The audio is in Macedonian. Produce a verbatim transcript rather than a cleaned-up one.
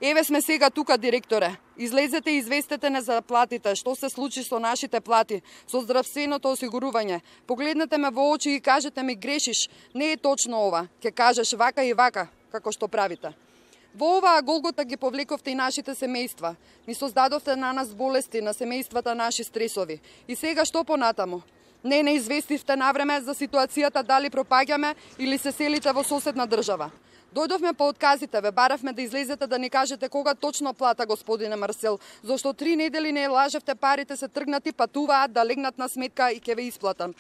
Еве сме сега тука, директоре. Излезете и известете не за платите, што се случи со нашите плати, со здравственото осигурување. Погледнете ме во очи и кажете ми грешиш, не е точно ова, ќе кажеш вака и вака, како што правите. Во оваа голгота ги повлековте и нашите семејства. Ни создадовте на нас болести, на семејствата наши стресови. И сега што понатаму? Не не известивте навреме за ситуацијата дали пропаѓаме или се селите во соседна држава. Дојдовме по отказите, ве баравме да излезете да ни кажете кога точно плата, господине Марсел, зашто три недели не лажевте, парите се тргнати, патуваат да легнат на сметка и ќе ве исплатам.